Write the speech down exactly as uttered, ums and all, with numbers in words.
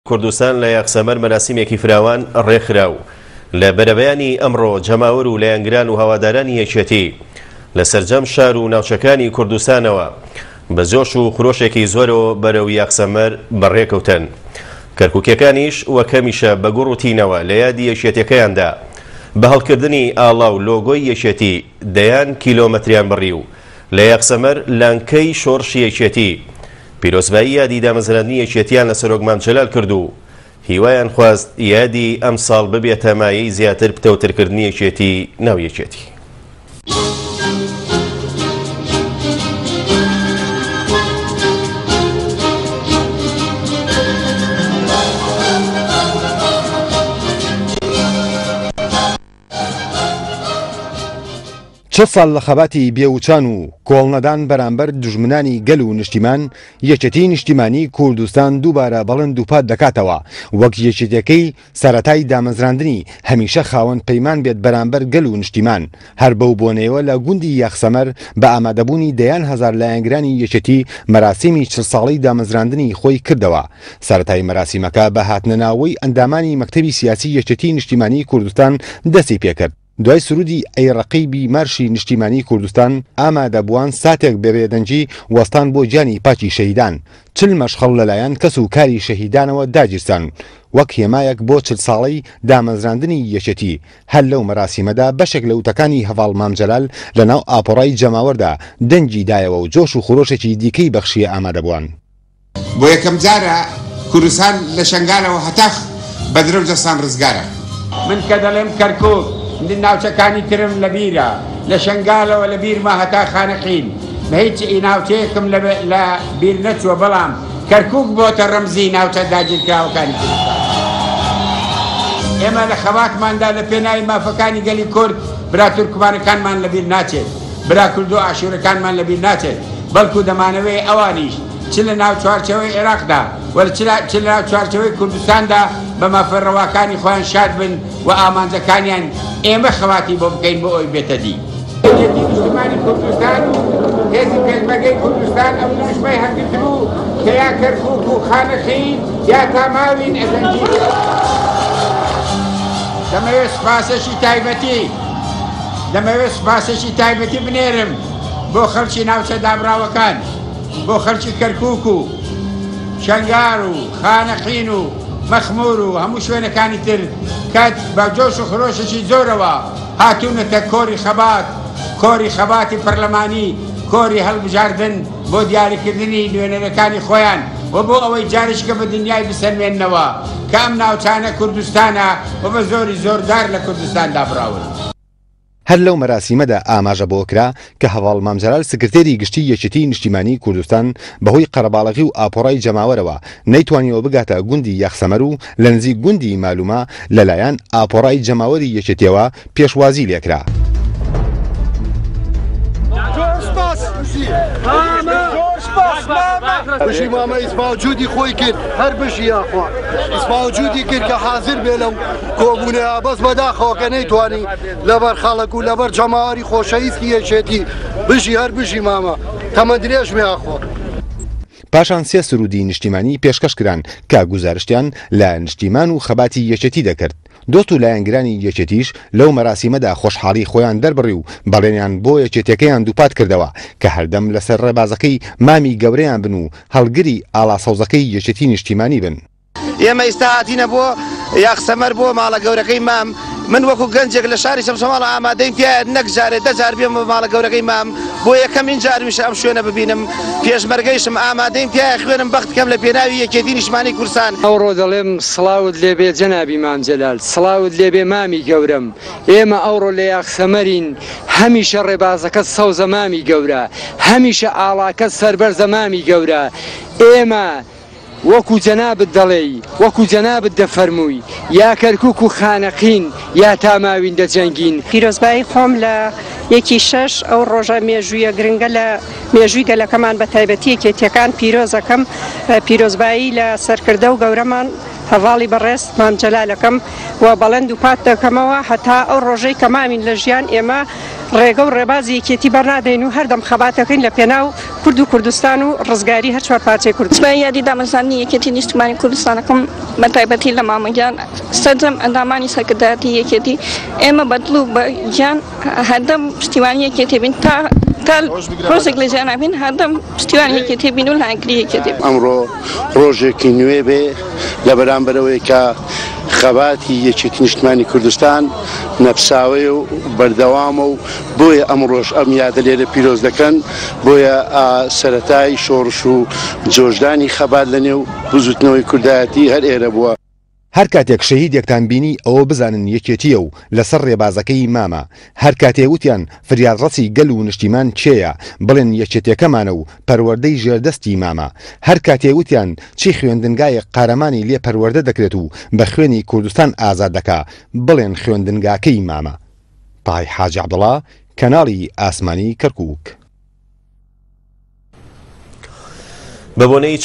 کوردستان لە یاخسەمەر مەراسیمێکی فراوان ڕێکخرا و لە بەرەبەیانی ئەمڕۆ جەماوەر و لایەنگران و هەوادارانی یەکێتی لە سەرجەم شار و ناوچەکانی کوردستانەوە بە جۆش و خرۆشێکی زۆرەوە بەرەو یاخسەمەر بەڕێکەوتن. کەرکووکیەکانیش وەک هەمیشە بە گوڕ و تینەوە لە یادی یەکێتیەکەیاندا بە هەڵکردنی ئاڵا و لۆگۆی یەکێتی دەیان کیلۆمەتریان بڕی و لە یاخسەمەر لانکەی شۆڕشی یەکێتی پیرۆزبایی یادی دامەزراندنی یەکێتیان لە سەرۆک مام جەلال کرد و هیوایان خواست یادی ئەمساڵ ببێتە مایەی زیاتر پتەوترکردنی یەکێتی ناو یەکێتی. چل ساڵ لە خەباتی بێوچان و کۆڵنەدان بەرامبەر دوژمنانی گەل و نیشتیمان، یەکێتی نیشتیمانی کوردستان دووبارە بەڵێن دووپات دەکاتەوە وەک یەکێتیەکەی سەرەتای دامەزراندنی هەمیشە خاوەن پەیمان بێت بەرامبەر گەل و نیشتیمان. هەر بەو بۆنەیەوە لە گوندی یاخسەمەر بە ئامادەبوونی دەیان هەزار لایەنگرانی یەکێتی مەراسیمی چل ساڵەی دامەزراندنی خۆی کردەوە. سەرەتای مەراسیمەکە بە هاتنەناوەی ئەندامانی مەکتەبی سیاسی یەکێتی نیشتیمانی کوردستان دەستی پێکرد. دوای سرودی ئەی ڕەقیبی مارشی نیشتیمانی کوردستان ئامادەبووان ساتێک بێبێدەنگی وەستان بۆ گیانی پاکی شەهیدان. چل مەشخەڵ لەلایەن کەس و کاری شەهیدانەوە داگیرسان وەک هێمایەک بۆ چل ساڵەی دامەزراندنی یەکێتی. هەر لەو مەراسیمەدا بەشێک لە وتەکانی هەڤاڵ مام جەلال لەناو ئاپۆڕای جەماوەردا دەنگی دایەوە و جۆش و خرۆشێکی دیکەی بەخشیە ئامادەبووان. بۆ یەکەم جارە کوردستان لە شەنگالەوە هەتا بەدرە و جەستان ڕزگارە. من کە دەڵێم کەرکووک ناوچەکانی ترم لەبیرە، لە شەنگالەوە لە بیرمە هەتا خانەقین، بە هیچ ناوچەیەکم لە بیر نەچووە، بەڵام کەرکووک بۆتە ڕەمزی ناوچە داگیرکراوەکانی کوردستان. ئێمە لە خەباتماندا لە پێناوی مافەکانی گەلی کورد برا تورکمانەکانمان لەبیر ناچێت، برا کورد و ئاشوورەکانمان لەبیر ناچێت، بەڵکو دەمانەوەی ئەوانیش چ لە ناو چوارچەوەی عێراقدا و چ لە ناو چوارچەوەی کوردستاندا بە مافە ڕەواکانی خۆیان شاد بن و ئامانجەکانیان ئێمە خەواتی بۆ بکەین بۆ ئەوی بێتە دی. یەکێتی نیشتیمانی کوردستان و هێزی پێشمەرگەی کوردستان ئەو دروشمەی هەڵگرتبوو کە یا کەرکووک و خانەقین یا تاماوین ئەزەنجین. دەمەوێت سوپاسێکی تایبەتی دەمەوێت سوپاسێکی تایبەتی بنێرم بۆ خەڵکی ناوچە دابراوەکان، بۆ خەڵکی کەرکووک و شەنگار و خانەقین و مەخمور و هەموو شوێنەکانی تر کە بە جۆش و خرۆشێکی زۆرەوە هاتوونەتە کۆری خەبات، کۆری خەباتی پەرلەمانی، کۆری هەڵبژاردن بۆ دیاریکردنی نوێنەرەکانی خۆیان و بۆ ئەوەی جارێکە بە دنیای بسەلمێننەوە کە ئەم ناوچانە کوردستانە و بە زۆری زۆردار لە کوردستان دابراون. هەر لەو مەراسیمەدا ئاماژە بۆ کرا کە هەڤاڵ مام جەلال سکرتێری گشتی یەکێتی نیشتیمانی کوردستان بەهۆی قەرەباڵغی و ئاپۆڕای جەماوەرەوە نەیتوانیەوە بگاتە گوندی یاخسەمەر و لە نزیک گوندی مالومە لەلایەن ئاپۆڕای جەماوەری یەکێتیەوە پێشوازی لێکرا. بژی مامە ئیسپاوجودی خۆی کرد، هەر بژی یاخوا ئیسپاوجودی کرد کە حاضر بێ لەو کۆبوونەیە، بەس بەداخەوە کە نەیتوانی لەبەر خەڵک و لەبەر جەماوەری خۆشەویستی یەکێتی. بژی هەر بژی مامە، تەمەن درێژ بێ یاخوا. پاشان سێ سرودی نیشتیمانی پێشکەش کران کە گوزارشتیان لە نیشتیمان و خەباتی یەکێتی دەکرد. دۆست و لایەنگرانی یەکێتیش لەو مەراسیمەدا خۆشحاڵی خۆیان دەربڕی و بەڵێنیان بۆ یەکێتیەکەیان دووپات کردەوە کە هەردەم لەسەر ڕێبازەکەی مامی گەورەیان بن و هەڵگری ئاڵا سەوزەکەی یەکێتی نیشتیمانی بن. ئێمە ئێستا هاتینە بۆ یاخسەمەر بۆ ماڵە گەورەکەی مام. من وەکو گەنجێک لە شاری چەمچەماڵ ئامادەیم تایە نەک جارێ دە جار بێمە ماڵە گەورەکەی مام، بۆ یەکەمین جارمیشە ئەم شوێنە ببینم. پێشمەرگەیشم ئامادەیم تایە خوێنم بەخت کەم لە پێناوی یەکێتی نیشتمانی کوردستان. ئەوڕۆ دەڵێم سڵاوت لێبێ جەنابی مام جەلال، سڵاوت لێبێ مامی گەورەم. ئێمە ئەوڕۆ لە یاخسەمەرین، هەمیشە ڕێبازەکەت سەوزە مامی گەورە، هەمیشە ئاڵاکەت سەربەرزە مامی گەورە. ئێمە وەکو جەنابت دەڵێی، وەکو جەنابت دەفەرمووی، یا کەرکووک و خانەقین یا تاماوین دەجەنگین. پیرۆزبایی خۆم لە یەکی شەش ئەو ڕۆژە مێژوویە گرنگە لە مێژووی گەلەکەمان بە تایبەتی یەکێتیەکان پیرۆزەکەم. پیرۆزبایی لە سەرکردە و گەورەمان هەڤاڵی بەڕێز مام جەلالەکەم و بەڵێن دووپات دەکەمەوە هەتا ئەو ڕۆژەی کە مامین لە ژیان ئێمە ڕێگە و ڕێبازی یەکێتی بەرنادەین و هەردەم خەباتەکەین لە پێناو کورد و کوردستان و ڕزگاری هەر چوار پارچەی کوردستان. یادی دامەزراندنی یەکێتی نیشتمانی کوردستانەکەم بە تایبەتی لە مامەگیان سەرجەم ئەندامانی سەرکردایەتی یەکێتی ئێمە بە دڵ و بە گیان هەردەم پشتیوانی یەکێتی بین تا تا ڕۆژێک لە ژیان بین هەردەم پشتیوانی یەکێتی بین و لایەنگری یەکێتی بین. ئەمڕۆ ڕۆژێکی نوێ بێ لە بەرامبەرەوەی کە خەباتی یەکێتی نیشتمانی کوردستان نەپساوەیە و بەردەوامە و بۆیە ئەمڕۆژ ئەم یادە لێرە پیرۆز دەکەن، بۆیە سەرەتای شۆڕش و جۆشدانی خەبات لەنێو بزوتنەوەی کوردایەتی هەر ئێرە بووە. هەر کاتێک شەهیدێکتان بینی ئەوە بزانن یەکێتیە و لەسەر ڕێبازەکەی مامە. هەر کاتێ وتیان فریادڕەسی گەل و نیشتیمان کێیە، بڵێن یەکێتیەکەمانە و پەروەردەی ژێردەستی مامە. هەر کاتێ وتیان چی خوێندنگایەک قارەمانی لێ پەروەردە دەکرێت و بە خوێنی کوردستان ئازاد دەکا، بڵێن خوێندنگاکەی مامە. تای حاجی عەبدوڵا، کەناڵی ئاسمانی کەرکووک. بە بۆنەی